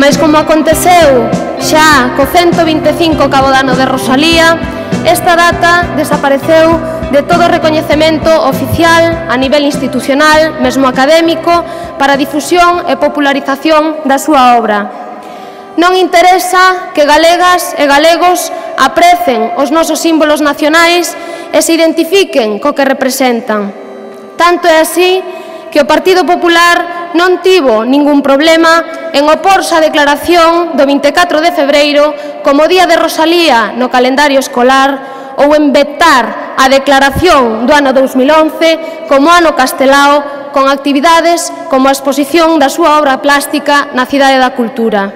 Mas como aconteceu xa co 125 cabo de ano de Rosalía, esta data desapareceu de todo recoñecemento oficial a nivel institucional, mesmo académico, para a difusión e popularización da súa obra. Non interesa que galegas e galegos aprecen os nosos símbolos nacionais e se identifiquen co que representan. Tanto é así que o Partido Popular non tivo ningún problema en oporse á declaración do 24 de febreiro como Día de Rosalía no calendario escolar ou en vetar a declaración do ano 2011 como ano castelao con actividades como a exposición da súa obra plástica na Cidade da Cultura.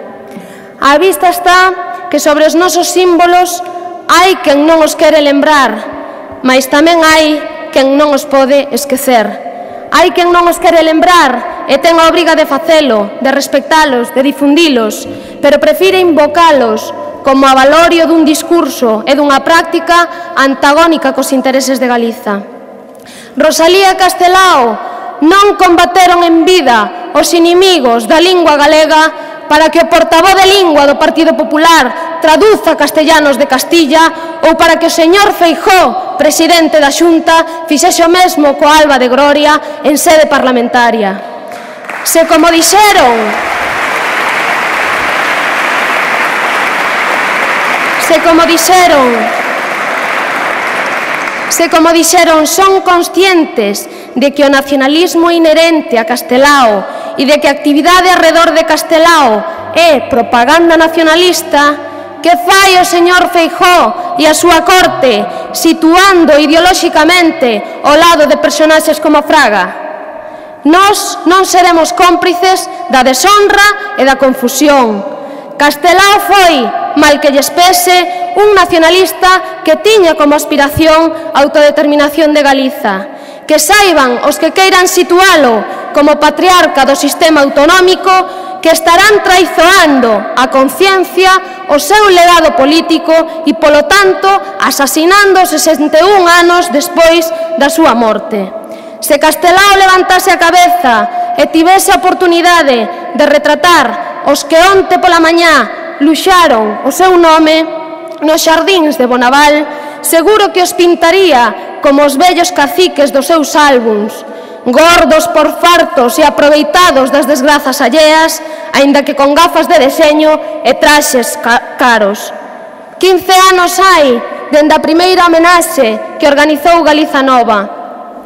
Á vista está que sobre os nosos símbolos hai quen non os quere lembrar, mas tamén hai quen non os pode esquecer. Hai quen non os quere lembrar e ten a obriga de facelo, de respectalos, de difundilos, pero prefire invocalos como a valorio dun discurso e dunha práctica antagónica cos intereses de Galiza. Rosalía e Castelao non combateron en vida os inimigos da lingua galega para que o portavoz de lingua do Partido Popular traduza castellanos de Castilla ou para que o señor Feijóo, presidente da Xunta, fixese o mesmo coa Alba de Gloria en sede parlamentaria. Se como dixeron, son conscientes de que o nacionalismo inherente a Castelao e de que a actividade arredor de Castelao é propaganda nacionalista, que fai o señor Feijóo e a súa corte situando ideolóxicamente ao lado de personaxes como Fraga? Nós non seremos cómplices da deshonra e da confusión. Castelao foi, mal que lles pese, un nacionalista que tiña como aspiración a autodeterminación de Galiza. Que saiban os que queiran situalo como patriarca do sistema autonómico que estarán traizoando a conciencia, o seu legado político e, polo tanto, asasinando 61 anos despois da súa morte. Se Castelao levantase a cabeza e tivese a oportunidade de retratar os que onte pola mañá luxaron o seu nome nos xardíns de Bonaval, seguro que os pintaría como os vellos caciques dos seus álbums, gordos por fartos e aproveitados das desgrazas alleas, aínda que con gafas de deseño e traxes caros. 15 anos hai dende a primeira homenaxe que organizou Galiza Nova,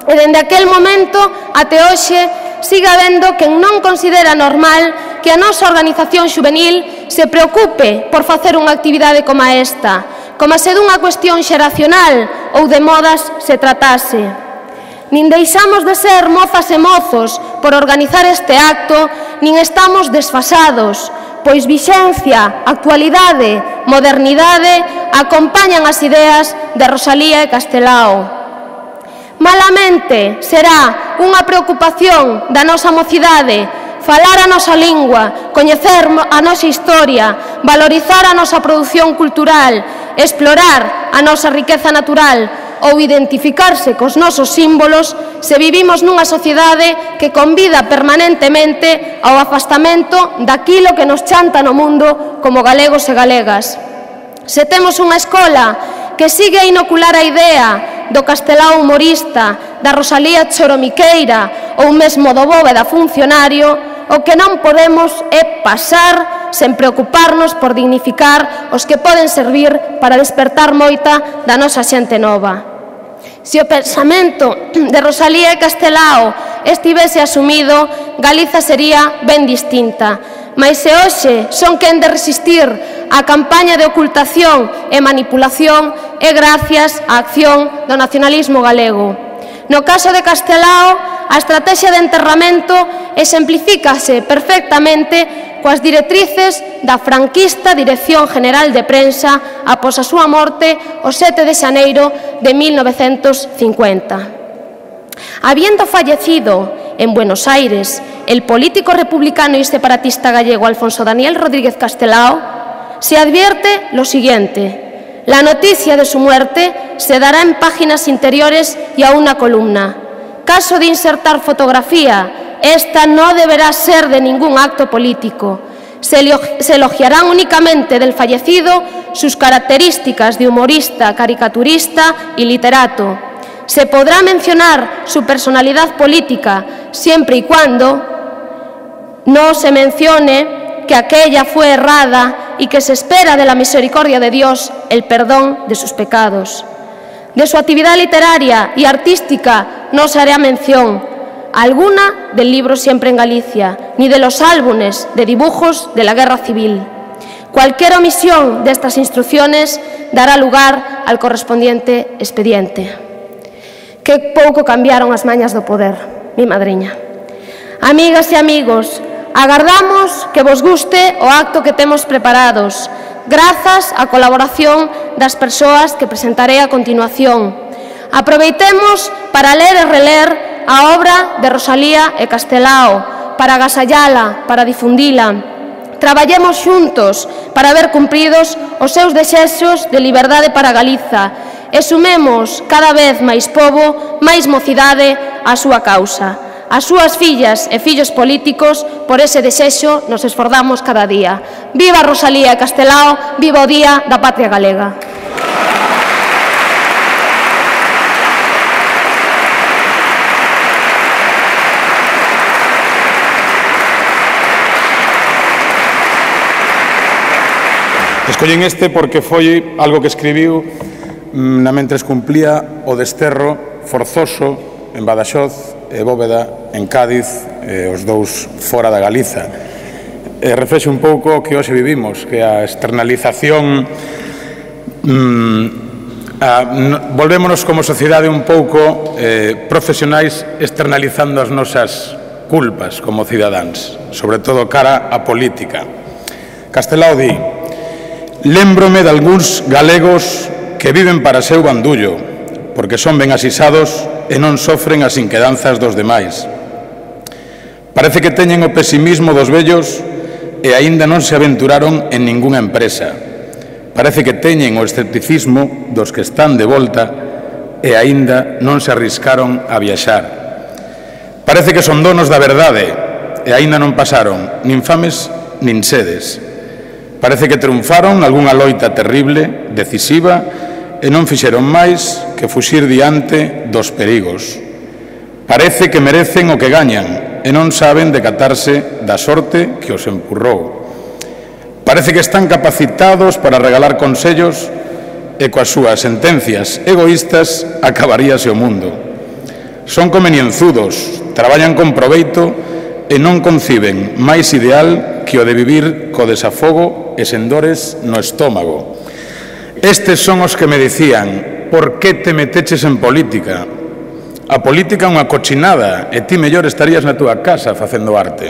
e dende aquel momento até hoxe siga habendo quen non considera normal que a nosa organización xuvenil se preocupe por facer unha actividade como esta, como se dunha cuestión xeracional ou de modas se tratase. Nin deixamos de ser mozas e mozos por organizar este acto, nin estamos desfasados, pois vixencia, actualidade, modernidade acompañan as ideas de Rosalía e Castelao. Malamente será unha preocupación da nosa mocidade falar a nosa lingua, coñecer a nosa historia, valorizar a nosa produción cultural, explorar a nosa riqueza natural ou identificarse cos nosos símbolos se vivimos nunha sociedade que convida permanentemente ao afastamento daquilo que nos chanta no mundo como galegos e galegas. Se temos unha escola que sigue a inocular a idea do Castelao humorista, da Rosalía choromiqueira ou mesmo do Bóveda funcionario, o que non podemos é pasar sen preocuparnos por dignificar os que poden servir para despertar moita da nosa xente nova. Se o pensamento de Rosalía e Castelao estivese asumido, Galiza sería ben distinta. Mas se hoxe son quen de resistir a campaña de ocultación e manipulación é gracias á acción do nacionalismo galego. No caso de Castelao, a estrategia de enterramento exemplifícase perfectamente coas directrices da franquista Dirección General de Prensa após a súa morte o 7 de xaneiro de 1950. Habiendo fallecido en Buenos Aires el político republicano y separatista gallego Alfonso Daniel Rodríguez Castelao, se advierte lo siguiente: la noticia de su muerte se dará en páginas interiores y a una columna. Caso de insertar fotografía, esta no deberá ser de ningún acto político. Se elogiarán únicamente del fallecido sus características de humorista, caricaturista y literato. Se podrá mencionar su personalidad política siempre y cuando no se mencione que aquella fue errada y que se espera de la misericordia de Dios el perdón de sus pecados. De su actividad literaria y artística no se hará mención alguna del libro Siempre en Galicia, ni de los álbumes de dibujos de la Guerra Civil. Cualquier omisión de estas instrucciones dará lugar al correspondiente expediente. Que pouco cambiaron as mañas do poder, mi madriña. Amigas e amigos, agardamos que vos guste o acto que temos preparados, grazas á colaboración das persoas que presentaré a continuación. Aproveitemos para ler e reler a obra de Rosalía e Castelao, para agasallala, para difundila. Traballemos xuntos para ver cumpridos os seus desexos de liberdade para Galiza e sumemos cada vez máis pobo, máis mocidade á súa causa. As súas fillas e fillos políticos, por ese desexo, nos esforzamos cada día. Viva Rosalía e Castelao, viva o Día da Patria Galega. Escollen este porque foi algo que escribiu na mentres cumplía o desterro forzoso en Badaxoz e Bóveda en Cádiz, os dous fora da Galiza. Reflexe un pouco o que hoxe vivimos, que a externalización volvémonos como sociedade un pouco profesionais externalizando as nosas culpas como cidadáns, sobre todo cara á política. Castelao di: lémbrome de algúns galegos que viven para seu bandullo, porque son ben asisados e non sofren as inquedanzas dos demais. Parece que teñen o pesimismo dos vellos e aínda non se aventuraron en ningunha empresa. Parece que teñen o escepticismo dos que están de volta e aínda non se arriscaron a viaxar. Parece que son donos da verdade e aínda non pasaron nin fames nin sedes. Parece que triunfaron nalgunha loita terrible, decisiva, e non fixeron máis que fuxir diante dos perigos. Parece que merecen o que gañan e non saben decatarse da sorte que os empurrou. Parece que están capacitados para regalar consellos e coas súas sentencias egoístas acabaríase o mundo. Son convenienzudos, traballan con proveito e non conciben máis ideal que o de vivir co desafogo e sen dores no estómago. Estes son os que me dicían: por que te meteches en política? A política é unha cochinada e ti mellor estarías na túa casa facendo arte.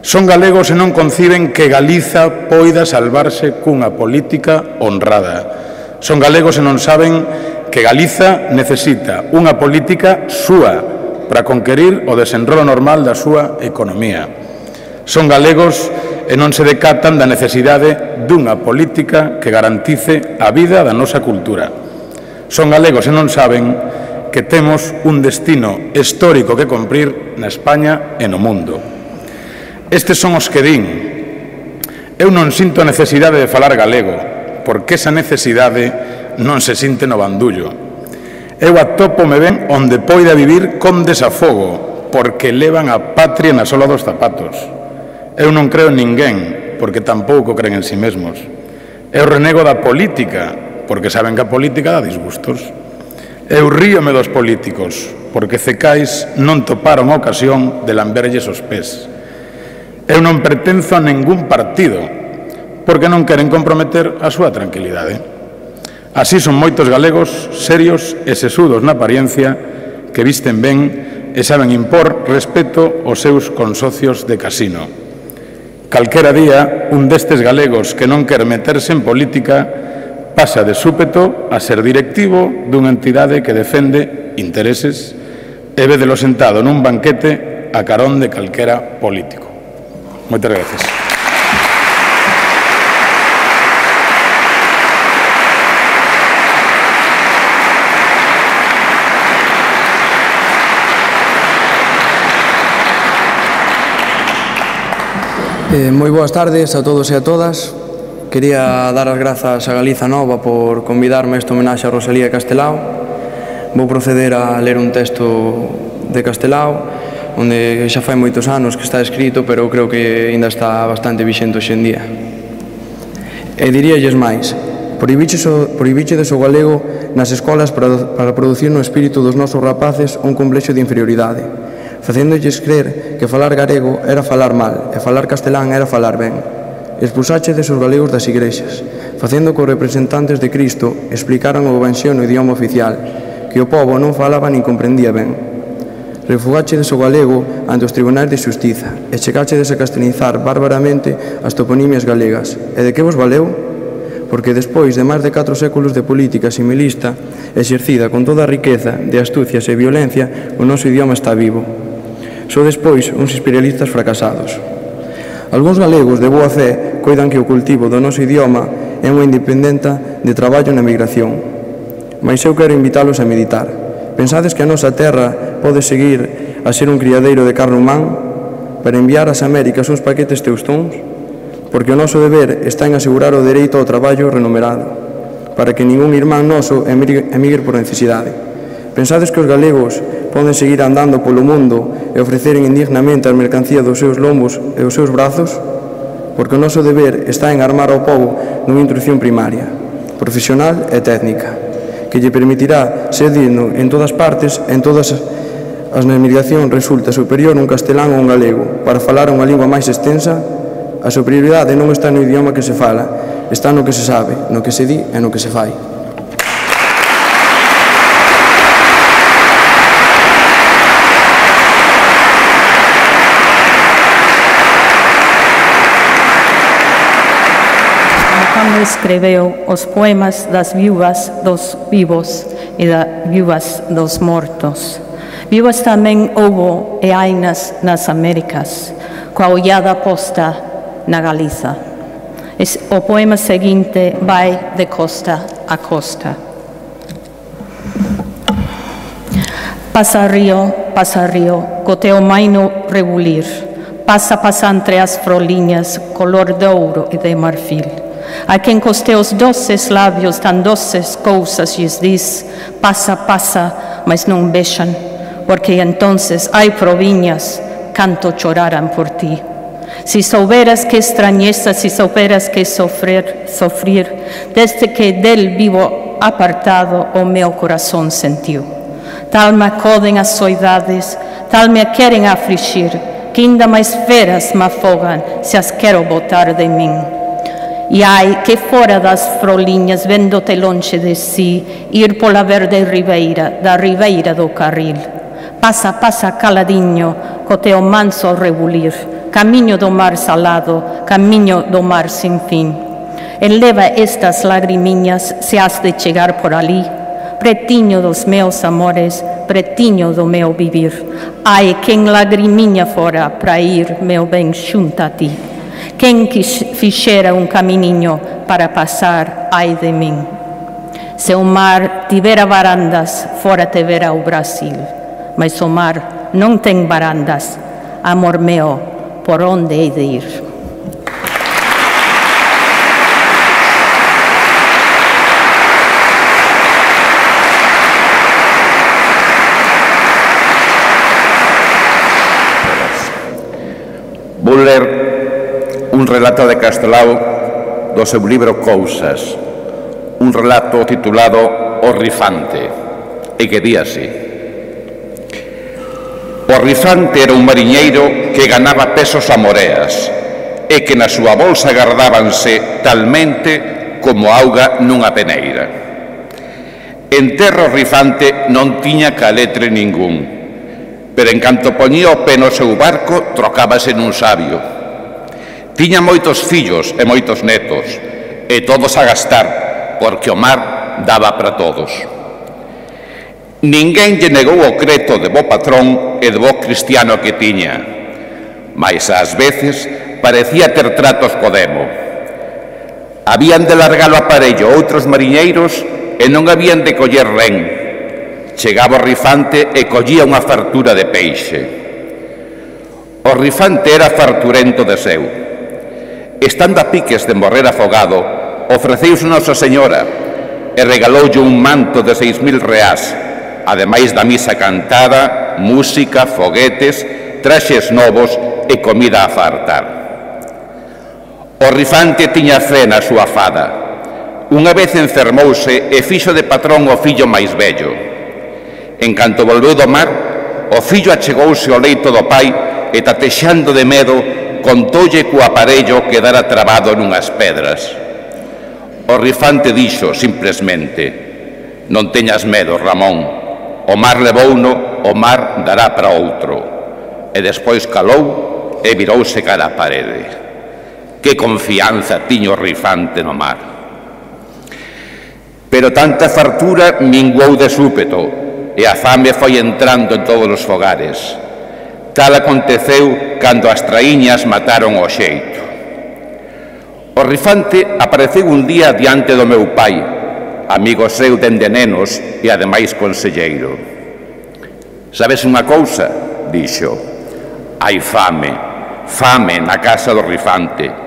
Son galegos e non conciben que Galiza poida salvarse cunha política honrada. Son galegos e non saben que Galiza necesita unha política súa para conquerir o desenrolo normal da súa economía. Son galegos e non se decatan da necesidade dunha política que garantice a vida da nosa cultura. Son galegos e non saben que temos un destino histórico que cumprir na España e no mundo. Estes son os que din: eu non sinto a necesidade de falar galego, porque esa necesidade non se sinte no bandullo. Eu atópome ben onde poida vivir con desafogo, porque levan a patria na sola dos zapatos. Eu non creo en ninguén, porque tampouco creen en si mesmos. Eu renego da política, porque saben que a política dá disgustos. Eu ríome dos políticos, porque cecais non toparon a ocasión de lamberlles os pés. Eu non pertenzo a ningún partido, porque non queren comprometer a súa tranquilidade. Así son moitos galegos serios e sesudos na apariencia, que visten ben e saben impor respeto aos seus consocios de casino. Calquera día, un destes galegos que non quer meterse en política pasa de súpeto a ser directivo dunha entidade que defende intereses e védelo sentado nun banquete a carón de calquera político. Moitas gracias. Moi boas tardes a todos e a todas. Quería dar as grazas a Galiza Nova por convidarme a esta homenaxe a Rosalía Castelao. Vou proceder a ler un texto de Castelao, onde xa fai moitos anos que está escrito, pero creo que ainda está bastante vixente hoxe en día. E diríalles máis: prohibichedes o galego nas escolas para producir no espírito dos nosos rapaces un complexo de inferioridade, facéndolles crer que falar galego era falar mal e falar castelán era falar ben. Expulsáchedes os galegos das igrexas, facendo que os representantes de Cristo explicaran o evanxio no idioma oficial, que o povo non falaba nin comprendía ben. Refugáchedes o galego ante os tribunais de xustiza e chegáchedes a castelizar bárbaramente as toponimias galegas. E de que vos valeu? Porque despois de máis de 4 séculos de política similista exercida con toda a riqueza de astucias e violencia, o noso idioma está vivo. Só despois uns imperialistas fracasados. Algúns galegos de boa fe coidan que o cultivo do noso idioma é unha independenta de traballo na migración. Mais eu quero invitalos a meditar. Pensades que a nosa terra pode seguir a ser un criadeiro de carne humán para enviar ás Américas uns paquetes teustóns? Porque o noso deber está en asegurar o dereito ao traballo remunerado, para que ningún irmán noso emigre por necesidade. Pensades que os galegos poden seguir andando polo mundo e ofreceren indignamente a mercancía dos seus lombos e os seus brazos? Porque o noso deber está en armar ao povo nunha instrucción primaria, profesional e técnica, que lle permitirá ser digno en todas partes, en todas as migracións resulta superior un castelán ou un galego. Para falar unha lingua máis extensa, a superioridade non está no idioma que se fala, está no que se sabe, no que se di e no que se fai. Escreveu os poemas das viúvas dos vivos e das viúvas dos mortos. Viúvas tamén houbo e hai nas Américas, coa ollada posta na Galiza. O poema seguinte vai de costa a costa. Pasa río, co teu maino rebulir. Pasa entre as froliñas, color de ouro e de marfil. A quen cos teus doces lábios tan doces cousas lles dis, pasa, mas non vexan, porque entonces hai proviñas canto choraran por ti. Si souberas que extrañeza, si souberas que sofrir, desde que del vivo apartado o meu corazón sentiu. Tal me acoden as soidades, tal me queren afligir, que ainda máis feras me afogan se as quero botar de min. E ai, que fora das froliñas, vendo-te lonxe de si, ir pola verde ribeira, da ribeira do carril. Pasa caladiño, co teu manso rebulir, camiño do mar salado, camiño do mar sin fin. Eleva estas lagrimiñas, se has de chegar por ali, pretiño dos meus amores, pretiño do meu vivir. Ai, quen lagrimiña fora pra ir, meu ben, xunta a ti. Quen fixera un caminiño para pasar, ai de min. Se o mar tivera varandas, fora te vera o Brasil, mas o mar non ten varandas, amor meu, por onde hei de ir? Vou ler un relato de Castelao do seu libro Cousas, un relato titulado O Rifante, e que di así: O Rifante era un mariñeiro que ganaba pesos a moreas e que na súa bolsa gardábanse talmente como auga nunha peneira. En terra o Rifante non tiña caletre ningún, pero en canto poñía o pé no seu barco trocábase nun sabio. Tiña moitos fillos e moitos netos, e todos a gastar, porque o mar daba para todos. Ninguén lle negou o creto de bo patrón e de bo cristiano que tiña, mais ás veces parecía ter tratos co demo. Habían de largar o aparello outros mariñeiros e non habían de coller ren. Chegaba o Rifante e collía unha fartura de peixe. O Rifante era farturento de seu. estando a piques de morrer afogado, ofreceuse Nosa Señora e regaloulle un manto de 6.000 reás, ademais da misa cantada, música, foguetes, traxes novos e comida a fartar. O Rifante tiña fe na súa fada. Unha vez enfermouse e fixo de patrón o fillo máis vello. En canto volveu do mar, o fillo achegouse ao leito do pai e, tatexando de medo, contoulle que o aparello quedara trabado nunhas pedras. O Rifante dixo, simplesmente: non teñas medo, Ramón, o mar levouno, o mar dará para outro. E despois calou e virouse cara a parede. Que confianza tiña o Rifante no mar. Pero tanta fartura minguou de súpeto e a fame foi entrando en todos os fogares. Tal aconteceu cando as traíñas mataron o xeito. O Rifante apareceu un día diante do meu pai, amigo seu dende nenos e ademais conselleiro. Sabes unha cousa? Dixo. Hai fame, fame na casa do Rifante.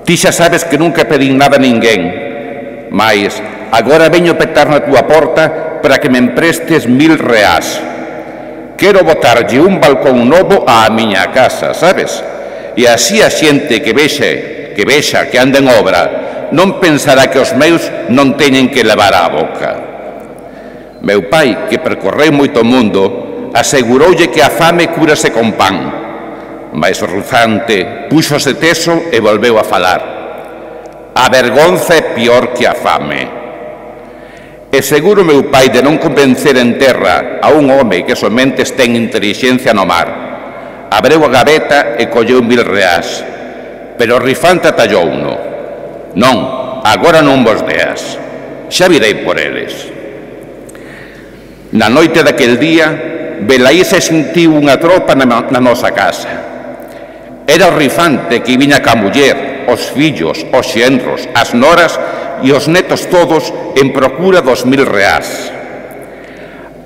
Ti xa sabes que nunca pedín nada a ninguén, mais agora veño petar na túa porta para que me emprestes 1.000 reás. Quero botarlle un balcón novo á miña casa, sabes? E así a xente que vexa que anda en obra non pensará que os meus non teñen que levar á boca. Meu pai, que percorreu moito o mundo, aseguroulle que a fame cúrase con pan. Mais o Rifante púxose teso e volveu a falar. A vergonza é pior que a fame. E seguro meu pai de non convencer en terra a un home que somente ten intelixencia no mar. Abreu a gaveta e colleu 1.000 reás. Pero o Rifante atallou-no. Non, agora non vos deas. Xa virei por eles. Na noite daquel día, velaí se sentiu unha tropa na nosa casa. Era o Rifante que viña ca muller, os fillos, os xenros, as noras e os netos todos en procura dos 1.000 reás.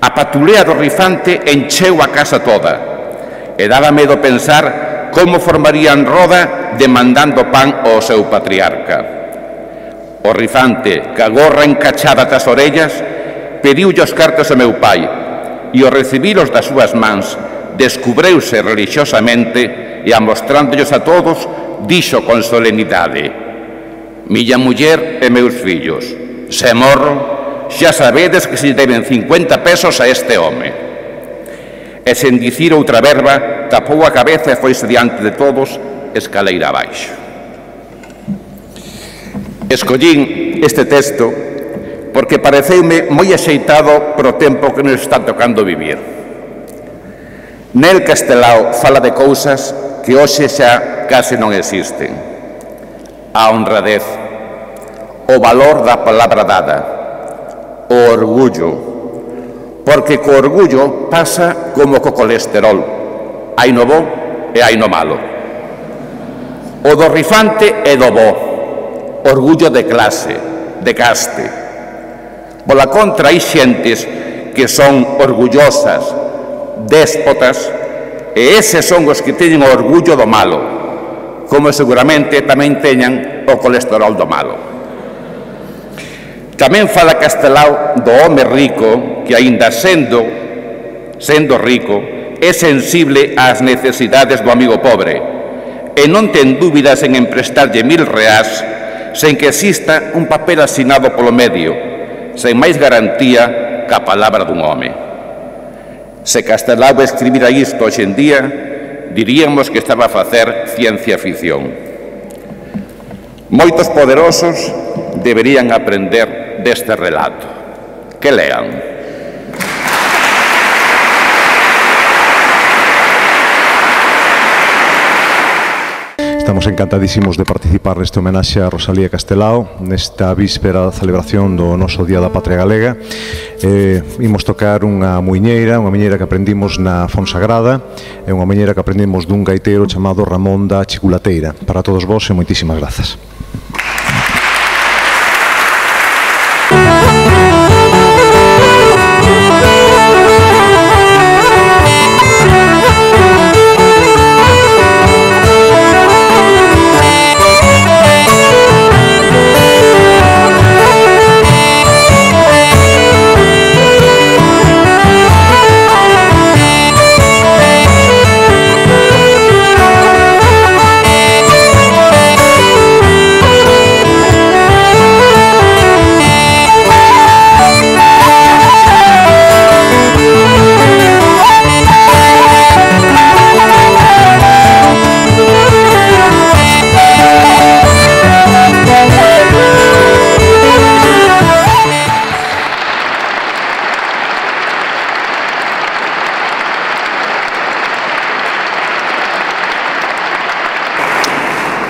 A patulea do Rifante encheu a casa toda e daba medo pensar como formarían roda demandando pan ao seu patriarca. O Rifante, ca gorra encachada das orellas, pediulle os cartos a meu pai e ao recibilos das súas mans descubreuse religiosamente e, amostrándolos a todos, dixo con solemnidade: miña muller e meus fillos, se morro, xa sabedes que se deben 50 pesos a este home. E sen dicir outra verba, tapou a cabeza e foise diante de todos escaleira abaixo. Escollín este texto porque pareceume moi axeitado pro tempo que nos está tocando vivir. Nel Castelao fala de cousas que hoxe xa case non existen. A honradez, o valor da palabra dada, o orgullo, porque co orgullo pasa como co colesterol, hai no bo e hai no malo. O do Rifante é do bo, orgullo de clase, de caste. Pola contra, hai xentes que son orgullosas, déspotas, e eses son os que teñen o orgullo do malo, como seguramente tamén teñan o colesterol do malo. Tamén fala Castelao do home rico que, aínda sendo rico, é sensible ás necesidades do amigo pobre e non ten dúbidas en emprestarlle 1.000 reás sen que exista un papel asinado polo medio, sen máis garantía ca palabra dun home. Se Castelao escribira isto hoxe en día, diríamos que estaba a facer ciencia ficción. Moitos poderosos deberían aprender deste relato. Que lean. Estamos encantadísimos de participar neste homenaxe a Rosalía Castelao nesta víspera da celebración do noso Día da Patria Galega. Imos tocar unha muiñeira que aprendimos na Fonsagrada, e unha muiñeira que aprendimos dun gaiteiro chamado Ramón da Chiculateira. Para todos vos e moitísimas grazas.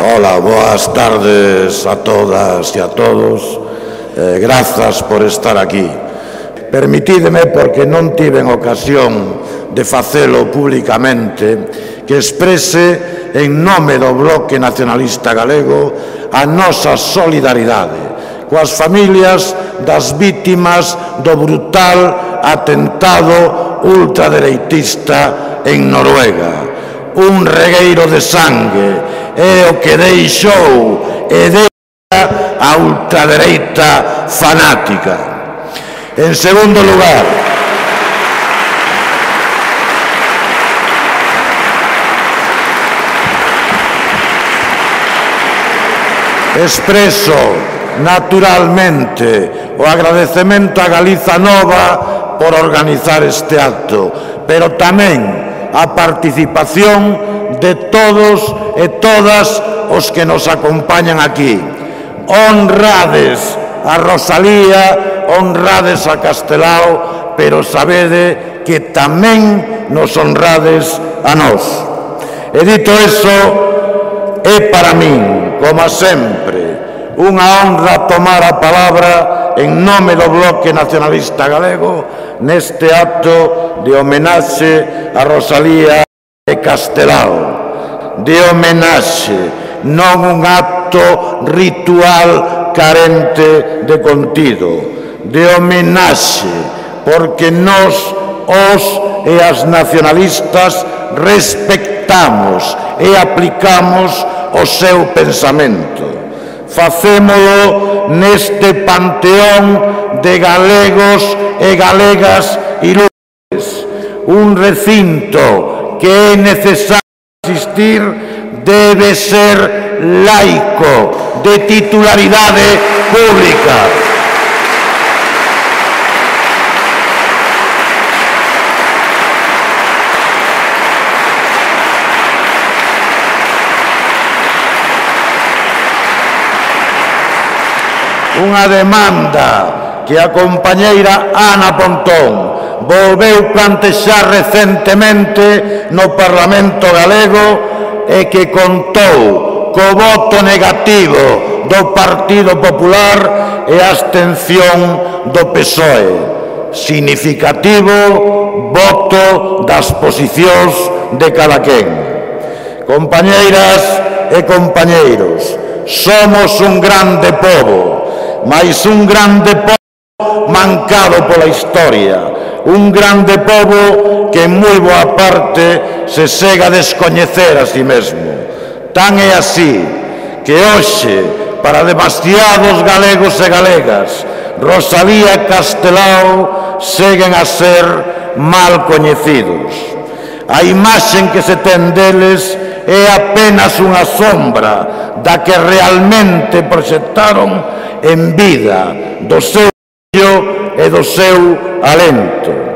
Hola, boas tardes a todas e a todos. Grazas por estar aquí. Permitídeme, porque non tiven ocasión de facelo públicamente, que exprese en nome do Bloque Nacionalista Galego a nosa solidaridade coas familias das vítimas do brutal atentado ultradereitista en Noruega. Un regueiro de sangue é o que deixou e deixa a ultradereita fanática. En segundo lugar, expreso naturalmente o agradecemento a Galiza Nova por organizar este acto, pero tamén a participación de todos e todas os que nos acompañan aquí. Honrades a Rosalía, honrades a Castelao, pero sabede que tamén nos honrades a nós. E dito eso, é para min, como sempre, unha honra tomar a palabra en nome do Bloque Nacionalista Galego neste acto de homenaxe a Rosalía e Castelao. De homenaxe, non un acto ritual carente de contido. De homenaxe, porque nós, os e as nacionalistas, respectamos e aplicamos o seu pensamento. Facémolo neste panteón de galegos e galegas ilustres, un recinto que é necesario asistir debe ser laico, de titularidade pública. Unha demanda que a compañeira Ana Pontón volveu plantexar recentemente no Parlamento galego e que contou co voto negativo do Partido Popular e a abstención do PSOE. Significativo voto das posicións de cadaquén. Compañeiras e compañeiros, somos un grande pobo, mais un grande pobo mancado pola historia, un grande pobo que en moi boa parte se sega a descoñecer a si mesmo. Tan é así que hoxe, para demasiados galegos e galegas, Rosalía e Castelao seguen a ser mal coñecidos. A imaxen que se ten deles é apenas unha sombra da que realmente proxectaron en vida, do seu brillo e do seu alento.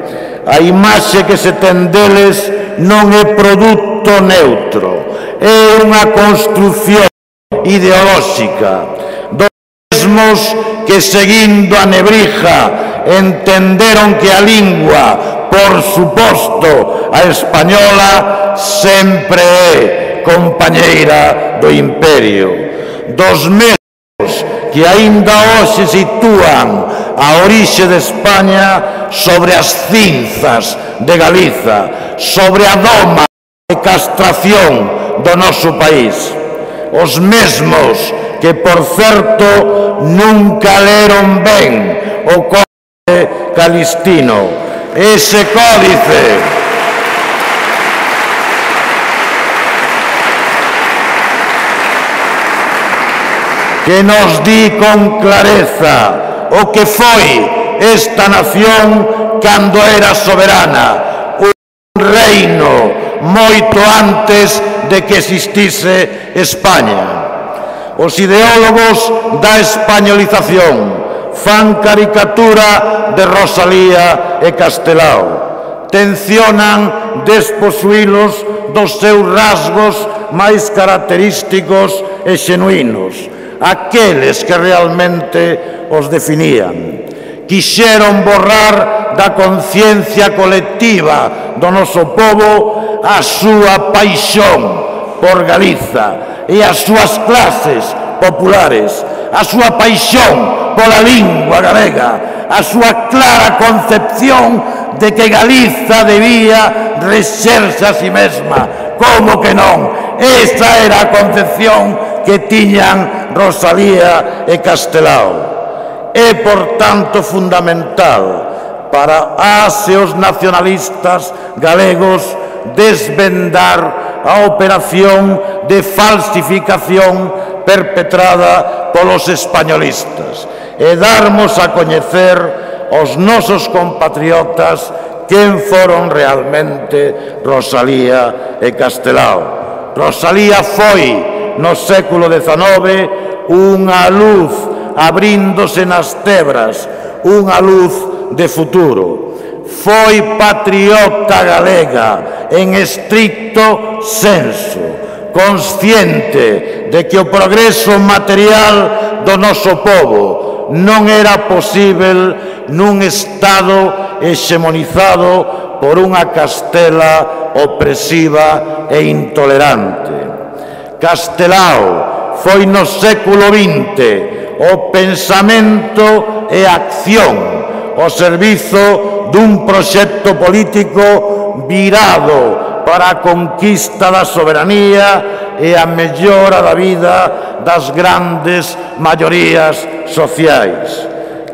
A imaxe que se ten deles non é produto neutro, é unha construción ideolóxica dos mesmos que, seguindo a nebrija, entenderon que a lingua, por suposto a española, sempre é compañeira do imperio. Dos mesmos que aínda hoxe sitúan a orixe de España sobre as cinzas de Galiza, sobre a doma de castración do noso país. Os mesmos que, por certo, nunca leron ben o Códice Calistino. Ese códice que nos di con clareza o que foi esta nación cando era soberana, un reino moito antes de que existise España. Os ideólogos da españolización fan caricatura de Rosalía e Castelao, tencionan desposuílos dos seus rasgos máis característicos e xenuínos, aqueles que realmente os definían. Quixeron borrar da conciencia colectiva do noso pobo a súa paixón por Galiza e as súas clases populares, a súa paixón pola lingua galega, a súa clara concepción de que Galiza debía rexerse a si mesma. Como que non? Esa era a concepción que tiñan Rosalía e Castelao. É, por tanto, fundamental para as e os nacionalistas galegos desvendar a operación de falsificación perpetrada polos españolistas e darmos a coñecer aos nosos compatriotas quen foron realmente Rosalía e Castelao. Rosalía foi, no século XIX, unha luz abríndose nas tebras, unha luz de futuro. Foi patriota galega en estricto senso, consciente de que o progreso material do noso povo non era posível nun Estado hexemonizado por unha Castela opresiva e intolerante. Castelao foi no século XX o pensamento e a acción ao servizo dun proxecto político virado para a conquista da soberanía e a mellora da vida das grandes maiorías sociais.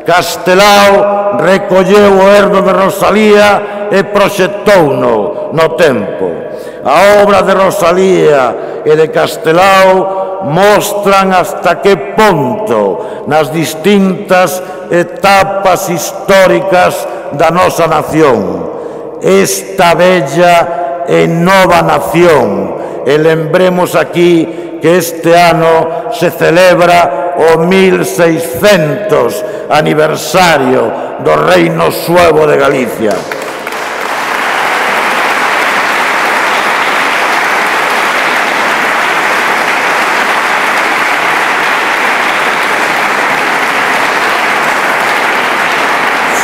Castelao recolleu o herdo de Rosalía e proxectouno no tempo. A obra de Rosalía e de Castelao mostran hasta que punto nas distintas etapas históricas da nosa nación, esta bella e nova nación. E lembremos aquí que este ano se celebra o 1600 aniversario do Reino Suevo de Galicia.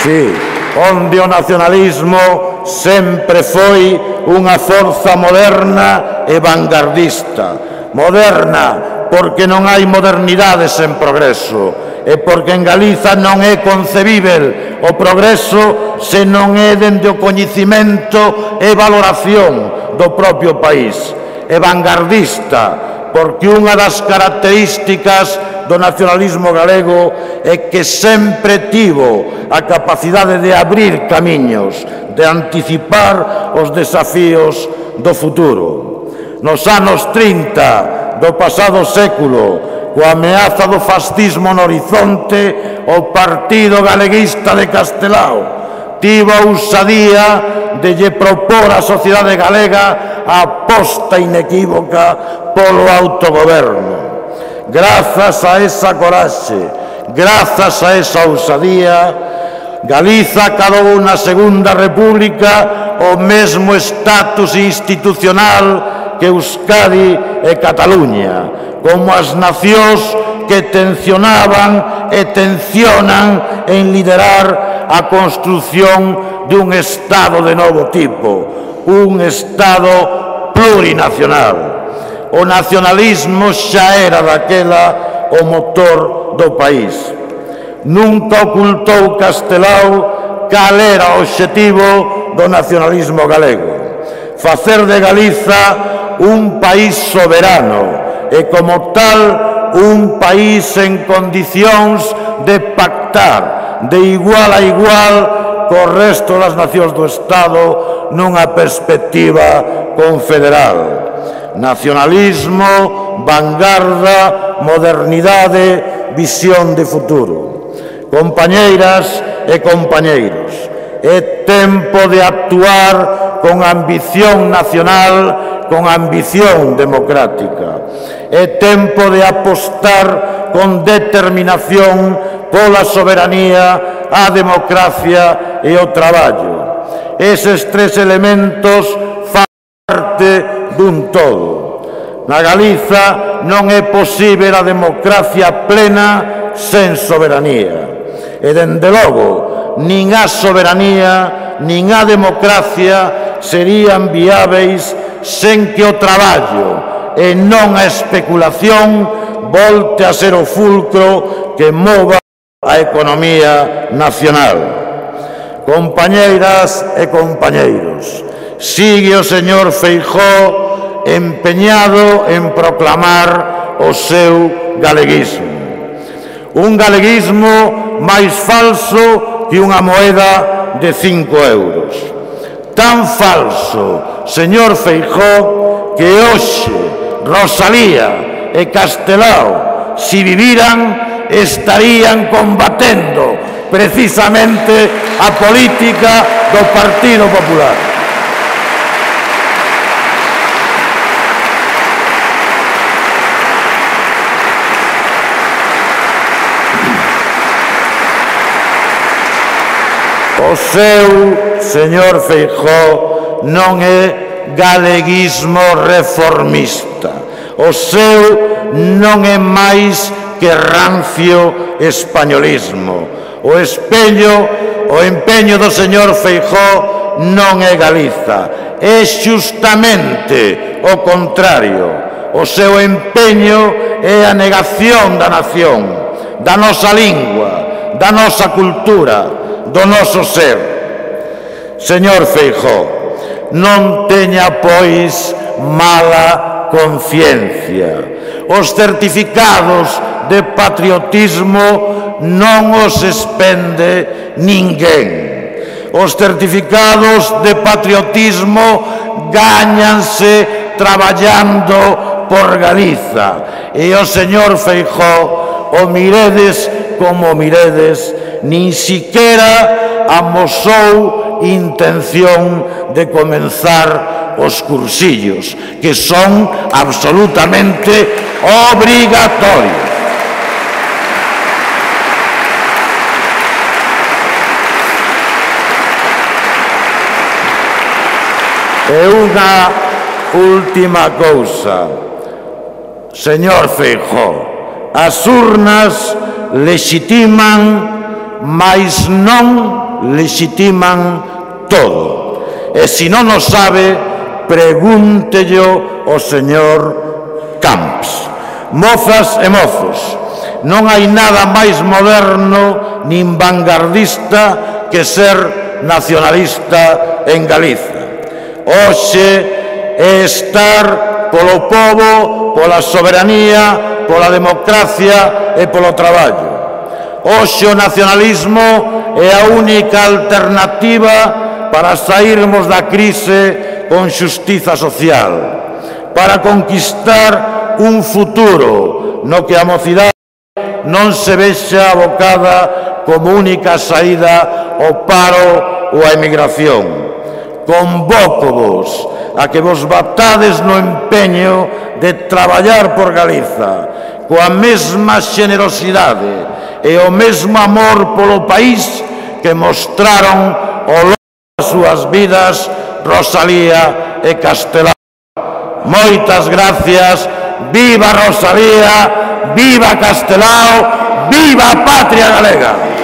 Sí, onde o nacionalismo sempre foi unha forza moderna e vanguardista. Moderna porque non hai modernidade sen progreso, e porque en Galiza non é concebível o progreso se non é dende o coñecimento e valoración do propio país. E vanguardista porque unha das características do nacionalismo galego é que sempre tivo a capacidade de abrir camiños, de anticipar os desafíos do futuro. Nos anos 30 do pasado século, coa ameaza do fascismo no horizonte, o Partido Galeguista de Castelao tivo a ousadía de lle propor á sociedade galega a aposta inequívoca polo autogoberno. Grazas a esa coraxe, grazas a esa ousadía, Galiza acadou na Segunda República o mesmo estatus institucional que Euskadi e Cataluña, como as nacións que tencionaban e tencionan en liderar a construción dun Estado de novo tipo, un Estado plurinacional. O nacionalismo xa era daquela o motor do país. Nunca ocultou Castelao cal era o obxectivo do nacionalismo galego: facer de Galiza un país soberano e, como tal, un país en condicións de pactar de igual a igual co resto das nacións do Estado nunha perspectiva confederal. Nacionalismo, vanguarda, modernidade, visión de futuro. Compañeiras e compañeiros, é tempo de actuar con ambición nacional, con ambición democrática. É tempo de apostar con determinación pola soberanía, a democracia e o traballo. Eses tres elementos fan parte dun todo. Na Galiza non é posível a democracia plena sen soberanía. E, dende logo, nin a soberanía nin a democracia serían viáveis sen que o traballo e non a especulación volte a ser o fulcro que mova a economía nacional. Compañeiras e compañeiros, sigue o señor Feijóo empeñado en proclamar o seu galeguismo. Un galeguismo máis falso que unha moeda de 5 euros. Tan falso, señor Feijóo, que hoxe Rosalía e Castelao, si viviran, estarían combatendo precisamente a política do Partido Popular. O seu, señor Feijóo, non é galeguismo reformista. O seu non é máis que rancio españolismo. O empeño do señor Feijóo non é Galiza, é xustamente o contrario. O seu empeño é a negación da nación, da nosa lingua, da nosa cultura, do noso ser. Señor Feijóo, non teña, pois, mala conciencia. Os certificados de patriotismo non os expende ninguén. Os certificados de patriotismo gáñanse traballando por Galiza. E o señor Feijóo, o miredes como miredes, nin siquiera amosou intención de comenzar os cursillos, que son absolutamente obrigatorios. E unha última cousa, señor Feijóo, as urnas lexitiman, mais non lexitiman todo. E se non o sabe, pregúntello ao señor Camps. Mozas e mozos, non hai nada máis moderno nin vanguardista que ser nacionalista en Galiza. Hoxe é estar polo pobo, pola soberanía, pola democracia e polo traballo. Hoxe o nacionalismo é a única alternativa para sairmos da crise con xustiza social, para conquistar un futuro no que a mocidade non se vexa abocada como única saída ao paro ou á emigración. Convócovos a que vos batades no empeño de traballar por Galiza coa mesma xenerosidade e o mesmo amor polo país que mostraron ao longo das súas vidas Rosalía e Castelao. Moitas gracias, viva Rosalía, viva Castelao, viva a patria galega!